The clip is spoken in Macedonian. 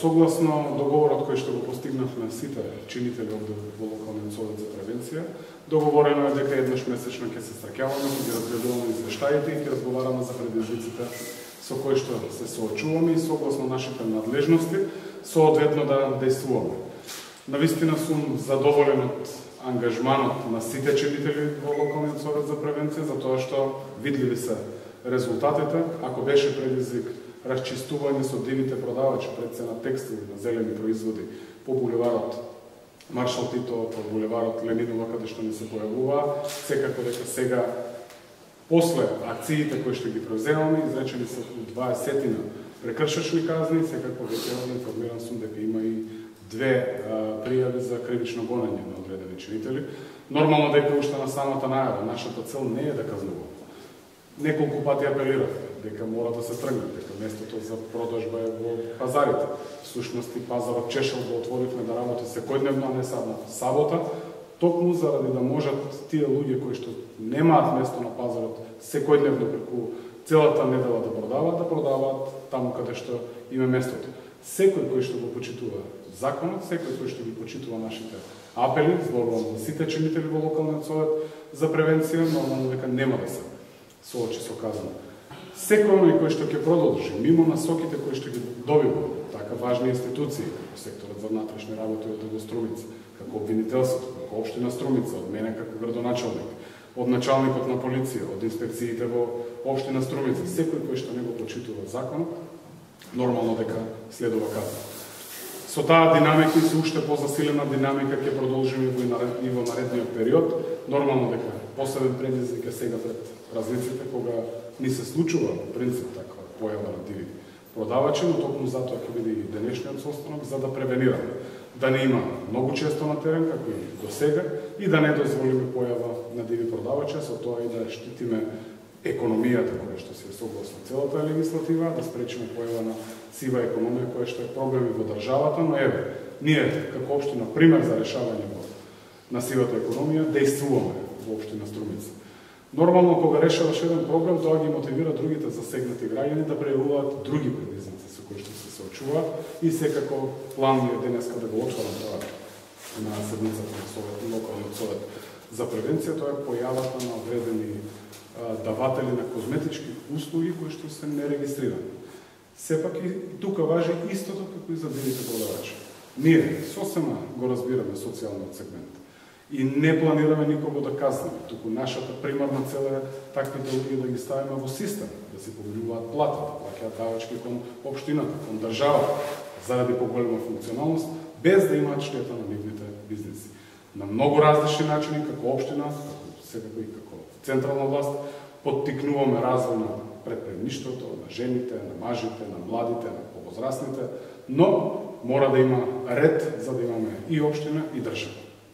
Согласно договорот кој што го постигнавме сите чинители во локалниот совет за превенција, договорено е дека еднаш месечно ќе се среќаваме, ќе ги разгледуваме извештаите и ќе разговараме за предизвиците со кои што се соочуваме и согласно нашите надлежности соодветно да действуваме. Навистина сум задоволен од ангажманот на сите чинители во локалниот совет за превенција, затоа што видливи се резултатите. Ако беше предизвик расчистување со дивите продавачи пред се на текстили на зелени производи по булеварот Маршал Тито, по булеварот Ленинова, каде што не се појавува, секако дека сега, после акциите кои што ги превземаме, изречени се 20 прекршачни казни, секако веќе информиран сум дека има и 2 пријави за кривично гонење на одредени чинители. Нормално дека уште на самата најава, нашата цел не е да казнуваме. Неколку пати апелиравме дека мора да се тргне, дека местото за продажба е во пазарите. Всушност и пазарот Чешел го отворивме да работи секојдневно, а не само сабота, токму заради да можат тие луѓе кои што немаат место на пазарот секојдневно преку целата недела да продаваат таму каде што има местото. Секој кој што го почитува законот, секој кој што ги почитува нашите апели, зборувам за сите чинители во локалниот совет за превенција, нормално дека нема да се соочи со казна. Секој оној кој што ќе продолжи мимо насоките кои што ги добива, така важни институции како секторот за внатрешни работи од Струмица, како обвинителството, како општина Струмица, од мене како градоначалник, од началникот на полиција, од инспекциите во општина Струмица, секој кој што не го почитува законот, нормално дека следува казна. Со таа динамика и со уште позасилена динамика ќе продолжиме и во наредниот период. Нормално дека посебен предизвик е сега пред празниците, кога ни се случува принцип таква појава на диви продавачи, но токму затоа ќе биде и денешниот состанок за да превенираме да не има многу често на терен, како и до сега, и да не дозволиме појава на диви продавачи, со тоа и да штитиме економијата која што се согласно целата легислатива, да спречиме појава на сива економија која што е проблем во државата, но еве, ние како општина пример за решавање на сивата економија действуваме во општина Струмица. Нормално кога решаваш еден проблем, тоа ги мотивира другите засегнати граѓани да прејавуваат други предизвици со кои што се соочуваат и секако план е денеска да го отворам тоа на седницата на совет, локалниот совет за превенција, тоа е појавата на одредени даватели на козметички услуги кои што се нерегистрирани. Сепак и тука важи истото како и за дивите продавачи. Ние сосема го разбираме социјалниот сегмент и не планираме никого да казнеме, туку нашата примарна цел е таквите луѓе да ги ставиме во систем, да си повелуваат плата, да плаќаат давачки кон општината, кон државата, заради поголема функционалност, без да имаат штета на нивните бизнеси. На многу различни начини, како општина, секако и како централна власт, поттикнуваме развој на предприемништвото, на жените, на мажите, на младите, на повозрастните, но мора да има ред за да имаме и општина и држава.